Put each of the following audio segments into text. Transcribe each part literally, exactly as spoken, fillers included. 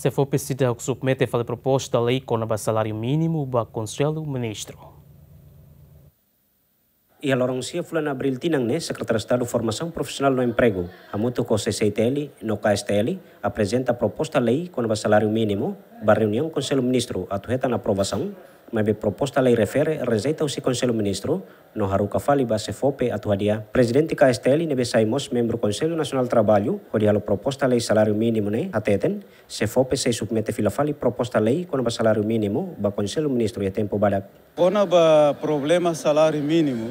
SEFOPE seidauk submete fali proposta lei kona-ba saláriu mínimu ba Konsellu Ministru. Iha loron sia fulan Abríl tinan ne'e, Sekretáriu Estadu Formasaun Profisionál no Empregu, hamutuk ho C C I T L no K S T L, aprezenta proposta lei kona-ba saláriu mínimu ba reuniaun Konsellu Ministru atu hetan aprovasaun, maibé proposta lei refere rejeita husi Konsellu Ministru, no haruka fali ba SEFOPE atu hadi'a. Prezidente K S T L ne'ebé sai mós membru Konsellu Nasionál Traballu, hodi halo proposta lei saláriu mínimu ne'e, hateten, SEFOPE sei submete fila fali proposta lei kona-ba saláriu mínimu ba Konsellu Ministru iha tempu badak. Kona-ba problema saláriu mínimu,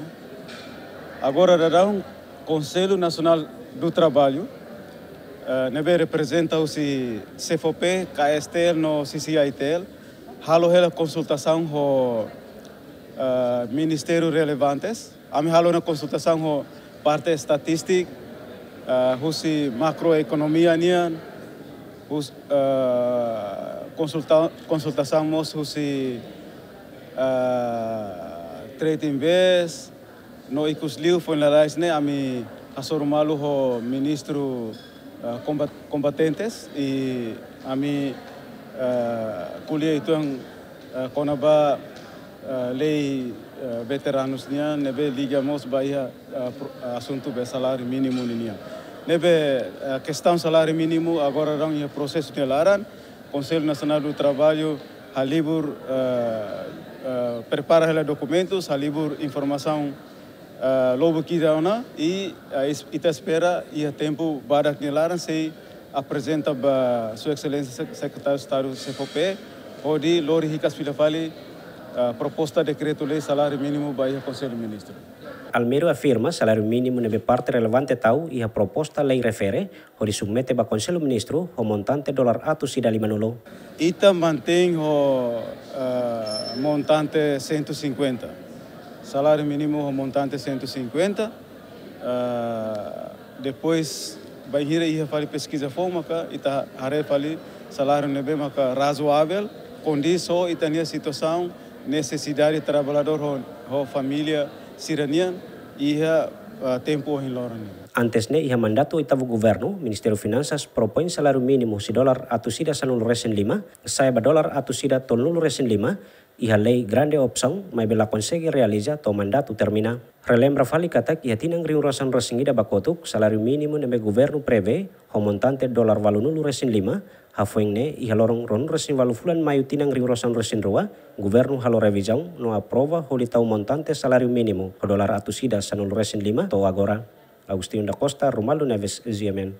agora daudaun Konsellu Nasionál Traballu, eh, ne'ebé reprezenta husi SEFOPE, K S T L no C C I T L, halo hela konsultasaun ho, eh, ministériu relevantes. Ami halo ona konsultasaun ho parte estatístika, eh, husi makroekonomia nian, hus-, eh, konsulta-, konsultasaun mós husi, eh, Trade Invest, no ikusliu foin lalais ne'e ami hasoru malu ho ministru, eh, komba-, kompetentes i ami, eh, ko'alia uitoan, eh, kona-ba, eh, lei, eh, veteranus nian, ne'ebé liga mós ba iha, eh, pro-, eh, asuntu be saláriu mínimu ninian. Ne'ebé, eh, kestaun saláriu mínimu agora daudaun iha prosesu nia laran, Konsellu Nasionál Traballu halibur, eh, eh, prepara hela dokumentus, halibur informasaun, eh, lubuk ida ona i, eh, is-, ita espera iha tempu badak nia laran sei aprezenta ba Sua Exelénsia Sek-, Sekretáriu Estadu SEFOPE, hodi lori hikas fila fali, eh, proposta dekretu lei saláriu mínimu ba iha Konsellu Ministru. Almero afirma saláriu mínimu ne'ebé parte relevante tau iha proposta lei refere, hodi submete ba Konsellu Ministru ho montante dolar atus ida limanulu. Ita mantein ho, eh, montante cento e cinquenta. Saláriu mínimu ho montante cento e cinquenta. Eh, depois, bainhira iha fali peskiza foun maka ita haree fali saláriu ne'ebé maka razoável, kondiz ho ita-nia situasaun, nesesidade traballadór ho, ho família sira-nian iha, eh, tempu ohin loron nian. Antes ne'e, iha mandatu oitavu governu, Ministériu Finansas propoin saláriu mínimu husi dolar atus ida sanulu resin lima, sa'e ba dolar atus ida tolunulu resin lima, iha lei grande opsaun, maibé la konsege realiza to'o mandatu termina. Relembra fali katak iha tinan rihun ruasan resin ida ba kotuk, saláriu mínimu ne'ebé governu prevee ho montante dolar ualunulu resin lima, hafoin ne'e iha loron ruanulu resin ualu fulan Maiu tinan rihun ruasan resin rua, governu halo revizaun no aprova hodi tau montante saláriu mínimu ho dolar atus ida sanulu resin lima to'o agora. Agostinho da Costa, Romualdo Neves, G M N.